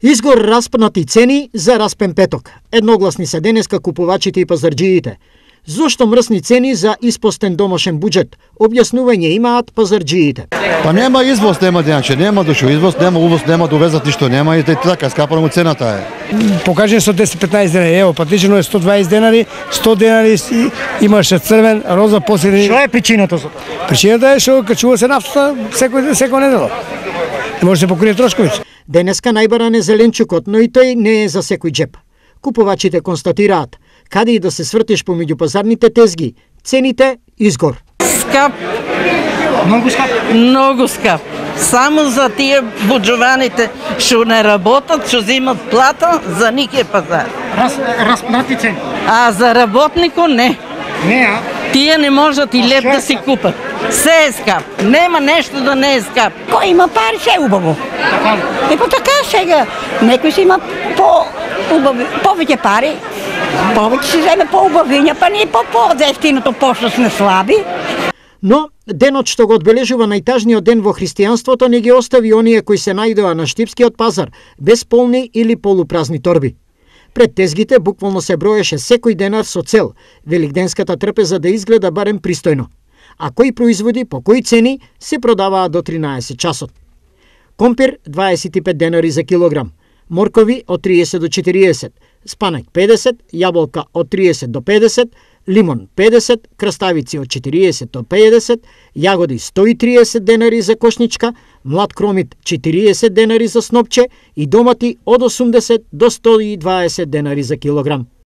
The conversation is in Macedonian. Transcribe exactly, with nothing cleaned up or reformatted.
Изгор распнати цени за распен петок. Едногласни се денеска купувачите и пазарџиите. Зошто мрсни цени за испостен домашен буџет? Објаснување имаат пазарџиите. Па нема извоз, нема дејаче, нема дошо извоз, нема увоз, нема довезат ништо, нема и така скапано цената е. Покажи сто десет петнаесет денари, ево, патичено е сто дваесет денари, сто денари имаше црвен, роза, посредни. Што е причината за тоа? Причината е што качува се нафтата секој секој недела. Не може да се покрие трошковите. Денеска најбаран е зеленчукот, но и тој не е за секој джеп. Купувачите констатираат, каде и да се свртиш помеѓу пазарните тезги, цените изгор. Скап. Многу скап? Многу скап. Само за тие буџуваните што не работат, што земат плата, за них е пазар. Раз, распнати цени? А за работнико не. Не, а? Тие не можат и леп да си купат. Се е скап. Нема нешто да не е скап. Кој има пари, се е убаво. Така ли? Е па така сега. Некој си има по убави, повеќе пари, повеќе си земе по убавиња, па ние по по-ефтиното пошто сме слаби. Но денот што го одбележува најтажниот ден во христијанството не ги остави оние кои се најдоа на штипскиот пазар без полни или полупразни торби. Пред тезгите буквално се броеше секој денар со цел великденската трпеза да изгледа барем пристојно. А кои производи по кои цени се продаваат до тринаесет часот. Компир дваесет и пет денари за килограм, моркови од триесет до четириесет, спанак педесет, јаболка од триесет до педесет, лимон педесет, краставици од четириесет до педесет, јагоди сто и триесет денари за кошничка, млад кромит четириесет денари за снопче и домати од осумдесет до сто и дваесет денари за килограм.